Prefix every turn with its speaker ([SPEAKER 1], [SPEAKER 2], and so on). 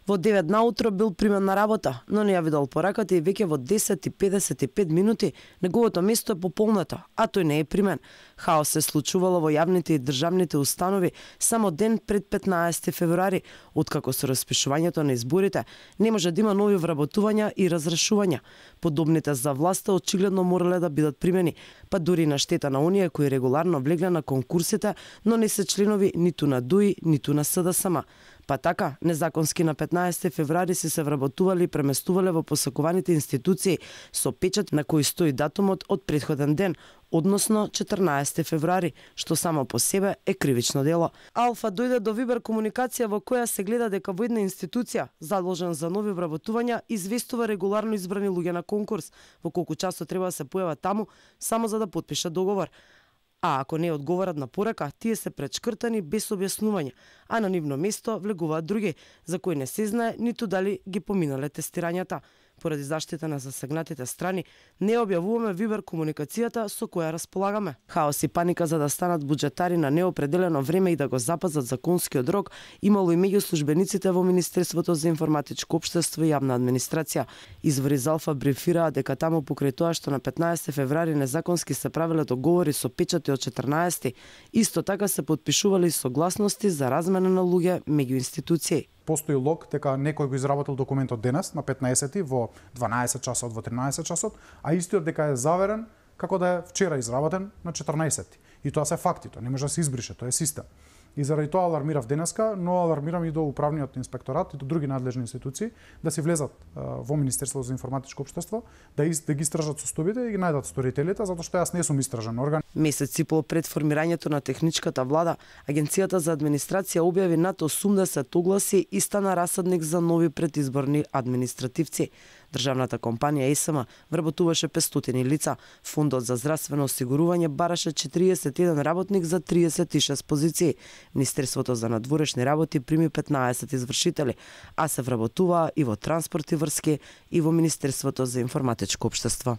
[SPEAKER 1] Во 9 наутро бил примен на работа, но не ја видел пораката и веќе во 10:55 минути неговото место е пополнето, а тој не е примен. Хаос се случувало во јавните и државните установи само ден пред 15 февруари, откако со распишувањето на изборите не може да има нови вработувања и разрешувања. Подобните за власта очигледно морале да бидат примени, па дури на штета на оние кои регуларно влегле на конкурсите, но не се членови ниту на ДУИ, ниту на СДСМ. Па така, незаконски на 15 февруари се вработували и преместувале во посакуваните институции со печат на кој стои датумот од претходен ден, односно 14 февруари, што само по себе е кривично дело. Алфа дојде до Вибер комуникација во која се гледа дека во една институција, задолжен за нови вработувања, известува регуларно избрани луѓе на конкурс, во колку часот треба да се појава таму, само за да потпише договор. А ако не одговорат на порака, тие се пречкртани без објаснување, а на нивно место влегуваат други, за кои не се знае ниту дали ги поминале тестирањата. Поради заштита на засегнатите страни, не објавуваме Вибер комуникацијата со која располагаме. Хаос и паника за да станат буџетари на неопределено време и да го запазат законскиот рок имало и меѓу службениците во Министерството за информатичко општество и јавна администрација. Извори за Алфа брифираа дека таму покрај тоа што на 15 февруари незаконски се правеле договори со печати од 14, исто така се потпишували согласности за размена на луѓе меѓу институции.
[SPEAKER 2] Постои лог дека некој го изработил документот денес на 15 во 12 часот, во 13 часот, а истиот дека е заверен како да е вчера изработен на 14. И тоа се факти, тоа не може да се избрише, тоа е систем. И заради тоа алармирав денеска, но алармирам и до управниот инспекторат и до други надлежни институции да си влезат во Министерството за информатичко општество, да ги истражат состојбите и ги најдат сторителите, затоа што јас не сум истражен орган.
[SPEAKER 1] Месец и пол пред формирањето на техничката влада, Агенцијата за администрација објави над 80 огласи и стана расадник за нови предизборни административци. Државната компанија ЕСМ вработуваше 500 лица, Фондот за здравствено осигурување бараше 41 работник за 36 позиции. Министерството за надворешни работи прими 15 извршители, а се вработуваа и во транспорт и врски и во Министерството за информатичко општество.